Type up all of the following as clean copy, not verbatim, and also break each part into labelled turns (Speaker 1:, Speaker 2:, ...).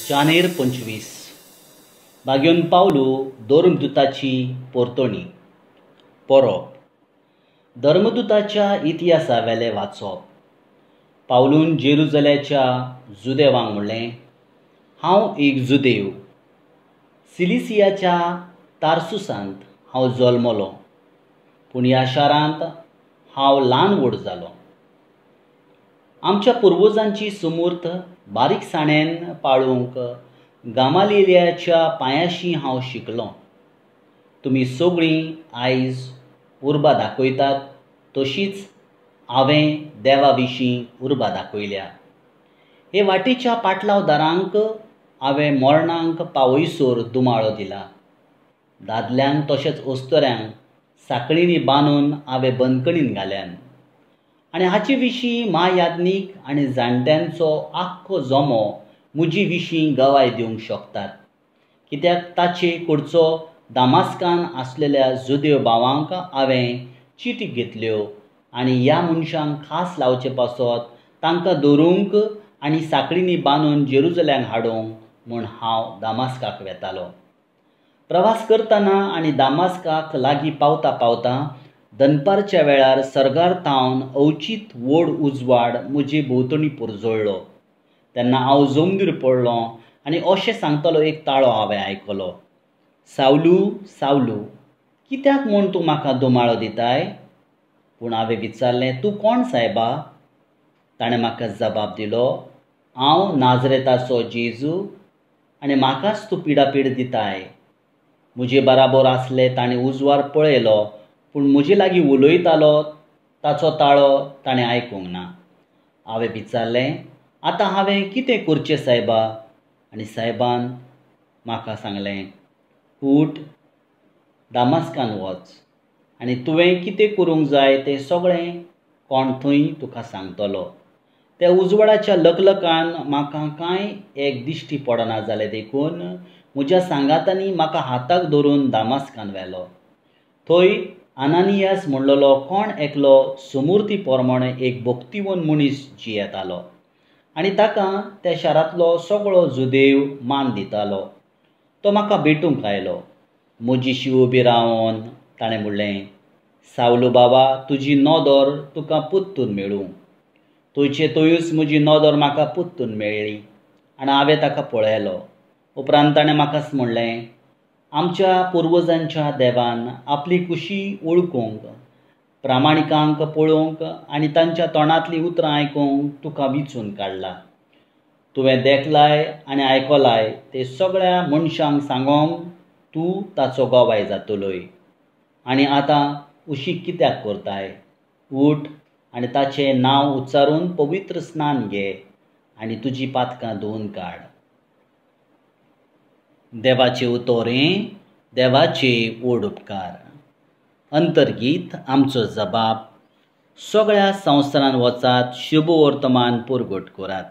Speaker 1: जानेर 25 बागेवन पावलू धर्मदूताची पोरतणी परोब धर्मदूताच्या इतिहासावेलें वाचप. पावलून जेरुजल्याच्या जुदेवांक म्हणलें, हांव एक जुदेव, सिलिसियाच्या तार्सुसांत हांव जल्मलो, पूण ह्या शारांत हांव ल्हान व्हड जालो. आमच्या पुर्वजांची सुमूर्त बारीकसाणेन पाळूंक गामालिलियाच्या पांयाशी हांव शिकलो. तुमी सगळीं आयज उर्बा दाखयतात तशीच हांवें देवा विशीं उर्बा दाखयल्या. हे वाटेच्या पाटलावदारांक हांवें मरणांक पावयसर दुमाळो दिला. दादल्यांक तशेंच अस्तुऱ्यांक साकळींनी बांदून हांवें बंदखणीन घाल्यान आनी हाचे विशीं म्हायाज्ञीक आनी जाणट्यांचो आख्खो जमो म्हजे विशीं गवाय दिवंक शकतात. कित्याक ताचे कडचो दामास्कान आसलेल्या जुदेव भावांक हांवें चिटी घेतल्यो आनी ह्या मनशांक खास लावचे पासत तांकां धरूंक आनी साकळींनी बांदून जेरुजल्याक हाडूंक म्हूण हांव दामास्काक वेतालो. प्रवास करतना आनी दामास्काक लागीं पावता पावता दनपारच्या वेळार सर्गार थावन अवचीत व्हड उजवाड म्हजे भोंवतणी पुरजळ्ळो. तेन्ना हांव जमनीर पडलो आनी अशें सांगतलो एक ताळो हांवें आयकलो, सावलू सावलू, कित्याक म्हूण तूं म्हाका दुमाळो दिताय? पूण हांवें विचारलें, तूं कोण सायबा? ताणें म्हाका जबाब दिलो, हांव नाजरेताचो जेजू आनी म्हाकाच तूं पिडापीड दिताय. म्हजे बराबर आसले ताणें उजवाड पळयलो, पूण म्हजे लागीं उलयतालो ताचो ताळो ताणें आयकूंक ना. हांवें विचारलें, आतां हांवें कितें करचें सायबा? आनी सायबान म्हाका सांगलें, उठ, दामास्कान वच आनी तुवें कितें करूंक जाय तें सगळें कोण थंय तुका सांगतलो. त्या उजवाडाच्या लकलकान म्हाका कांय एक दिश्टी पडना जालें, देखून म्हज्या सांगातांनी म्हाका हाताक धरून दामास्कान व्हेलो. थंय अनानियास म्हणलेलो कोण एकलो सुमूर्ती प्रमाणे एक भक्तिवन मनीस जियेतालो आनी ताका त्या शारांतलो सगळो जुदेव मान दितालो. तो म्हाका भेटूंक आयलो. म्हजीशी उबी रावन ताणें म्हणलें, सावलू बाबा, तुजी नदर तुका परतून मेळूं. थंयचे थंयूच म्हजी नदर म्हाका परतून मेळ्ळी आनी हांवें ताका पळयलो. उपरांत ताणें म्हाका म्हणलें, आमच्या पुर्वजांच्या देवान आपली कुशी वळखूंक, प्रामाणिकांक पळोवंक आनी तांच्या तोंडांतलीं उतरां आयकूंक तुका विंचून काडला. तुवें देखलाय आनी आयकलाय ते सगळ्या मनशांक सांगोंक तूं ताचो गवाय जातलोय. आनी आतां उशीक कित्याक करताय? उठ आनी ताचें नांव उच्चारून पवित्र स्नान घे आनी तुजी पातकां धुवन काड. देवाचे उतोरें, देवाचे व्हड उपकार. अंतर्गीत आमचो जबाब, सगळ्या संवसारांत वचात, शुभ वर्तमान पुरगट करात.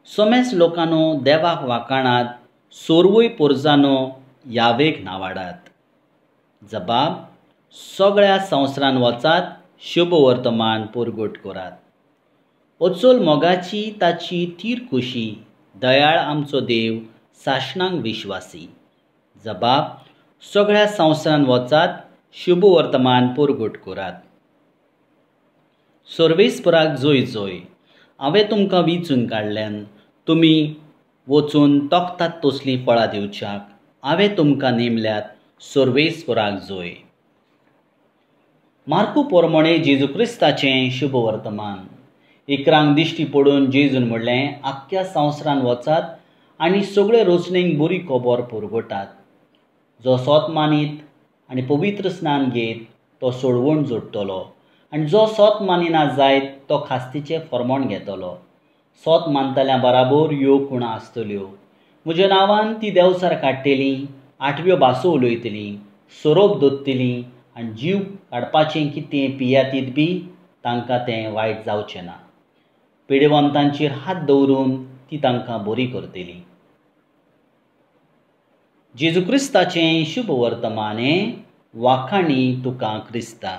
Speaker 1: समेस लोकांनो देवाक वाखाणात, सोरवूय पोरजानो यावेक नावाडात. जबाब, सगळ्या संवसारांत वचात, शुभ वर्तमान पुरगट करात. अचोल मोगाची ताची थीर खुशी, दयाळ आमचो देव सासणांक विश्वासी. जबाब, सगळ्या संवसारांत वचात, शुभ वर्तमान पुरगट करात. सर्वेस्पराक जोय जोय, हांवें तुमकां विंचून काडल्यान, तुमी वचून तोखतात तसलीं फळां दिवच्याक हांवें तुमकां नेमल्यात. सर्वेस्पराक जोय. मार्कू पोरमणे जेजू क्रिस्ताचें शुभ वर्तमान. इकरांक दिश्टी पडून जेजून म्हणलें, आख्ख्या संवसारांत वचात आनी सगळे रोचणेक बरी खबर पुरगटात. जो सोत मानीत आनी पवित्र स्नान घेत तो सोडवण जोडटलो आनी जो सोत मानिना जायत तो खास्तीचें फर्मण घेतलो. सोत मानतल्या बराबर ह्यो खुणा आसतल्यो, म्हज्या नांवान ती देंवचार काडटलीं, आठव्यो भासो उलयतलीं, सोरोप दोत्तलीं आनी जीव काडपाचें कितें पियातीत बी तांकां तें वायट जावचें ना. पिडेवंतांचेर हात दवरून ती तांकां बरी करतली. जेजू क्रिस्ताचें शुभ वर्तमान हें, वाखाणी तुका क्रिस्ता.